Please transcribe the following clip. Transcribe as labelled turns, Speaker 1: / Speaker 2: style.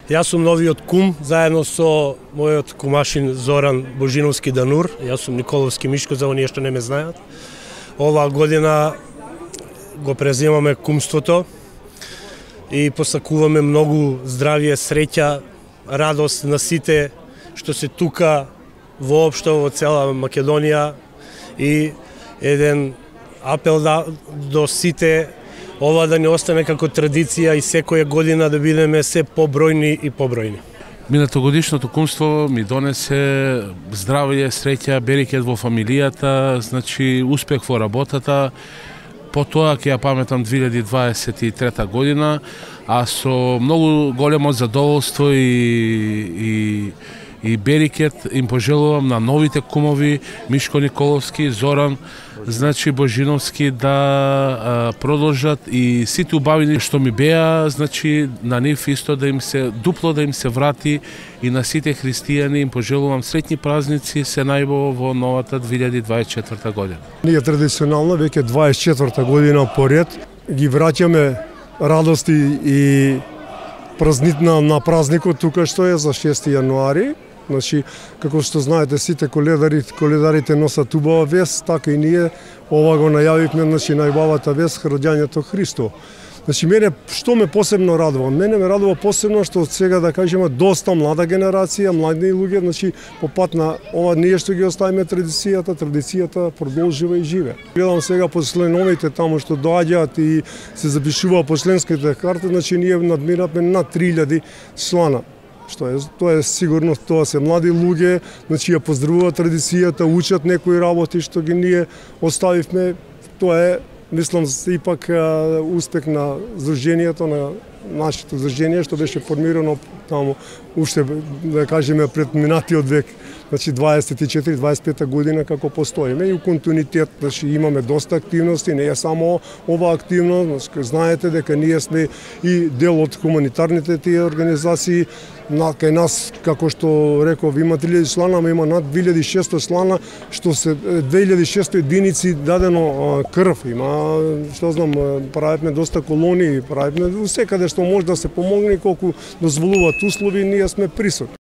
Speaker 1: Јас сум новиот кум, заедно со мојот кумашин Зоран Божиновски Данур. Јас сум Николовски Мишко, за оние што не ме знаат. Оваа година го преземаме кумството и посакуваме многу здравје, среќа, радост на сите што се тука воопшто во цела Македонија и еден апел до сите ова да не остане како традиција и секоја година да бидеме се побројни и побројни.
Speaker 2: Минатогодишното кумство ми донесе здравје, среќа, берекет во фамилијата, значи успех во работата. Потоа ќе ја паметам 2023 година, а со многу големо задоволство и берекет им пожелувам на новите кумови Мишко Николовски, Зоран, значи Божиновски да продолжат и сите убавини што ми беа, значи на нив исто да им се дупло да им се врати и на сите христијани им пожелувам среќни празници, се најбо во новата 2024 година.
Speaker 3: Ние традиционално веќе 24 година поред ги враќаме радости и празнитна на празникот тука што е за 6 јануари. Значи, како што знаете, сите коледарите носат убава вест, така и ние ова го најавивме, значи најубавата вест, раѓањето Христо. Значи, мене што ме посебно радува? Мене ме радува посебно што од сега да кажеме доста млада генерација, млади луѓе, значи по пат на ова ние што ги оставиме традицијата продолжува и живе. Гледам сега по членовите таму што доаѓаат и се запишува по членските карти, значи ние надмираме над 3000 члана. Тоа е сигурно, тоа се млади луѓе, значи ја поздравуваат традицијата, учат некои работи што ги ние оставивме. Тоа е, мислам, ипак успех на здруженијето, на нашето здружение што беше формирано таму уште да кажеме пред минатиот век, значи 24-25 година како постоиме и у континуитет, значи имаме доста активности, не е само ова активност, значи знаете дека ние сме и дел од хуманитарните тие организации. Кај нас, како што реков, има 3000 члана, има над 2600 члана, што се 2600 единици дадено крв. Има, што знам, правиме доста колонии, правиме секаде што може да се помогне, колку дозволуваат услови, ние сме присутни.